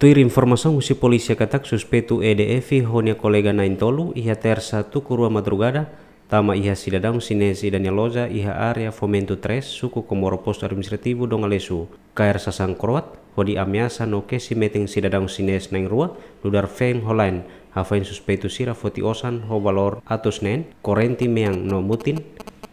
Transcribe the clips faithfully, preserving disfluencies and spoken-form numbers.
Tuir informasaun husi polísia katak suspeitu E D F ho nia kolega na'in-tolu iha Tersa tuku rua madrugada tama iha sidadaun xinés ida nia loja iha área Fomento três, suku Comoro, Postu Administrativu Dom Aleixo, kaer sasán kroat, hodi ameasa no kesi metin sidadaun xinés na'in-rua, nu'udar feen ho la'en, hafoin suspeitu sira foti osan ho valór atus neen, korrente mean no mutin,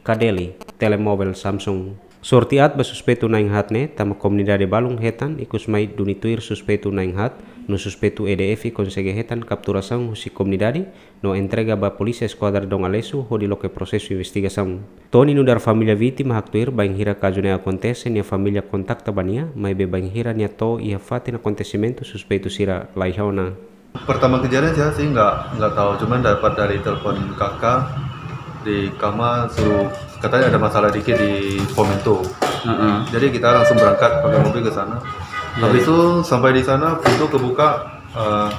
kadeli, telemovel Samsung. Sorte aat ba suspeitu na'in-haat ne'e, tanba komunidade balun hetan, ikus mai duni tuir suspeitu na'in-haat, no suspeitu E D F konsege hetan kapturasaun husi komunidade, no entrega ba Polísia Eskuadra Dom Aleixo hodi loke prosesu investigasaun. Tony, nu'udar família vítima, haktuir bainhira kazu ne'e akontese, nia família kontakta ba nia, maibé bainhira nia to'o iha fatin akontesimentu, suspeitu sira la iha ona. Pertama kejadian saya sih nggak, nggak tahu, cuman dapat dari telepon kakak di kamar, suruh, katanya ada masalah dikit di Fomento. Heeh. Jadi kita langsung berangkat pakai mobil ke sana. Iya, iya. Habis itu sampai di sana, pintu kebuka, eh,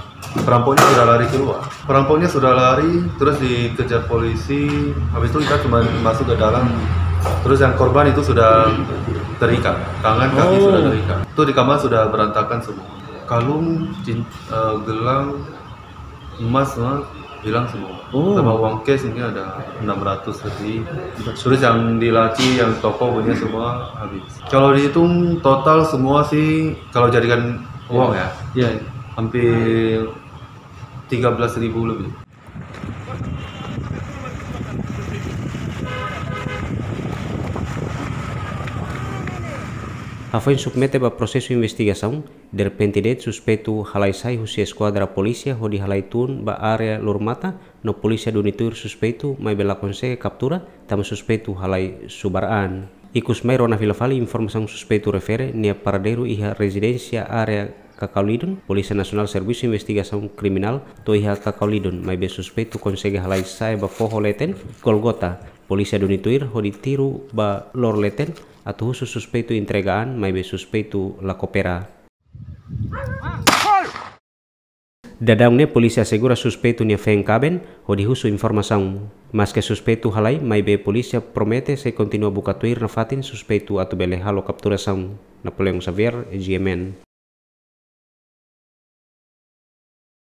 perampoknya sudah lari keluar. Perampoknya sudah lari, terus dikejar polisi. Habis itu kita cuma masuk ke dalam. Terus yang korban itu sudah terikat, tangan, kaki sudah terikat. Oh. Itu di kamar sudah berantakan semua. Kalung, cin-, eh, gelang, emas semua hilang semua. Oh. Sama uang cash ini ada enam ratus lebih. Terus yang di laci, yang toko punya semua habis. Kalau dihitung total semua sih, kalau jadikan uang ya, iya, hampir tiga belas ribu lebih. Hafoin submete ba prosesu investigasaun, derrepente de'it suspeitu halai sai husi eskuadra polísia hodi halai tun ba área Lurmata, no polísia duni tuir suspeitu, maibé la konsege kaptura, tanba suspeitu halai subar an. Ikus mai rona fila fali informasaun suspeitu refere nia paradeiru iha rezidénsia área Cacau Leedon, Polísia Nasionál Servisu Investigasaun Kriminál to'o iha Cacau Leedon, maibé suspeitu konsege halai sa'e ba foho leten, Golgota, polísia duni tuir hodi tiru ba loro leten, atu husu suspeitu entrega an, maibé suspeitu la koopera. Daudaun ne'e polísia asegura suspeitu nia feen kaben, hodi husu informasaun. Maske suspeitu halai, maibé polísia promete sei kontinua buka tuir nafatin suspeitu atu bele halo kapturasaun. Napoleão Xavier, G M N.